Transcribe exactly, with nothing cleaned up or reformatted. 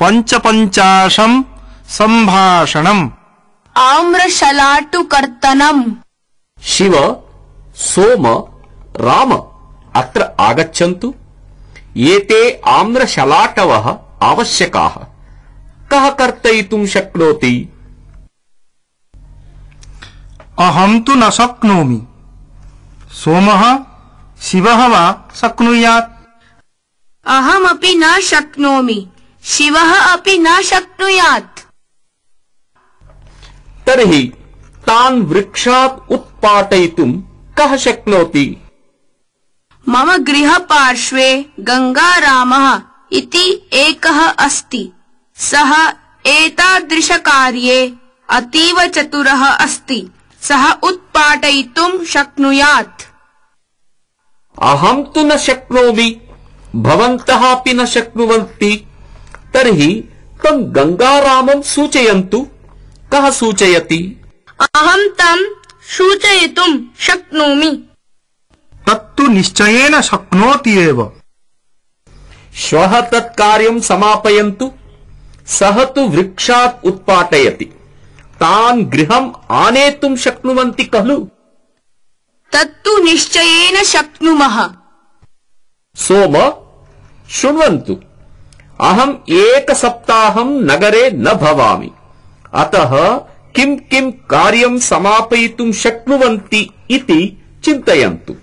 पञ्चपञ्चाशं सम्भाषणम् आम्रशलाटुकर्तनम् शिव सोम राम अत्र आगच्छन्तु एते आम्रशलाटवः आवश्यकाः कः कर्तयितुं शक्नोति अहं तु न शक्नोमि सोमः शिवः वा शक्नुयात् अहमपि न शक्नोमि शिवः अपि न शक्नुयात् तर्हि तान् वृक्षात् उत्पाटयितुं कः शक्नोति मम गृहपार्श्वे गंगारामः इति एकः अस्ति सः एतादृशकार्ये अतीव चतुरः अस्ति सः उत्पाटयितुं शक्नुयात् अहं तु न शक्नोमि भवन्तः अपि न शक्नुवन्ति तर्हि तं गंगारामं सूचयन्तु कः सूचयति अहं तं सूचयितुं शक्नोमि तत्तु निश्चयेन शक्नोति एव श्वः तत् कार्यं समापयन्तु सः तु वृक्षात् उत्पाटयति तान् गृहम् आनेतुं शक्नुवन्ति खलु तत्तु निश्चयेन शक्नुमः सोम शृण्वन्तु अहम् एकसप्ताहं नगरे न भवामि अतः किं किं कार्यं समापयितुं शक्नुवन्ति इति चिन्तयन्तु